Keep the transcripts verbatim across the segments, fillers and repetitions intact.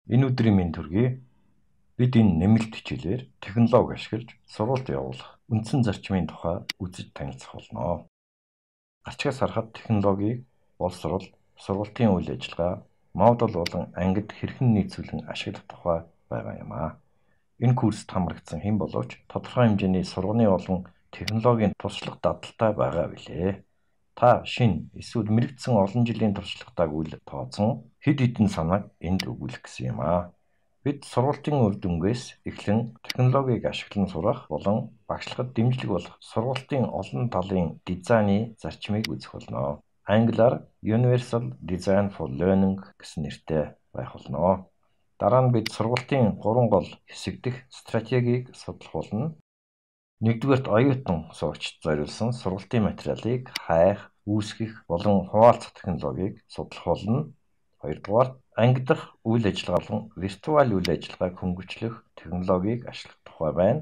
Энэ өдрийн мэнд төргий. Бид энэ нэмэлт хичээлээр технологи ашиглаж сургалт явуулах үндсэн зарчмын тухай үзэж танилцах болно. Гарчгаас харахад технологиг боловсрол, сургалтын үйл ажиллагаа, модуль болон ангид хэрхэн нийцүүлэн ашиглах тухай байгаа юм аа. Энэ курст хамрагдсан хэн боловч тодорхой хэмжээний сурганы болон технологийн туршлага дадалтай байгаа билээ. Та шинэ эсвэл мэрэгдсэн олон жилийн туршлагатайг үл тооцсон хэд хэдэн санааг энд өгүүлэх гэсэн юм аа. Бид сургалтын үр дүнгээс эхлэн технологиг ашиглан сурах болон багшлагад дэмжлэг болох сургалтын олон талын дизайны зарчмыг үзэх болно. Англиар Universal Design for Learning гэсэн нэртэй байх болно. Дараа нь бид сургалтын гурван гол хэсэг дэх стратегийг судлах болно. Нэгдүгээрт оюутан сурагчид зориулсан сургалтын материалыг хайх, үүсгэх болон хуваалцах технологиг судлах болно. Хоёрдугаар анги дахь үйл ажиллагаа болон виртуал үйл ажиллагааг хөнгөвчлөх технологиг ашиглах тухай байна.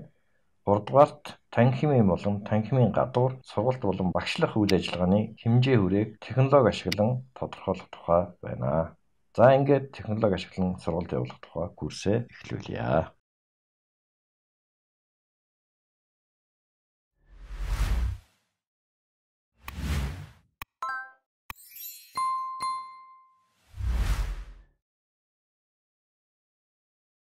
Гуравдугаарт танхимын болон танхимын гадуур сургалт болон багшлах үйл ажиллагааны хэмжээ хүрээг технологи ашиглан тодорхойлох тухай байна. За ингээд технологи ашиглан сургалт явуулах тухай курсээ эхлүүлье.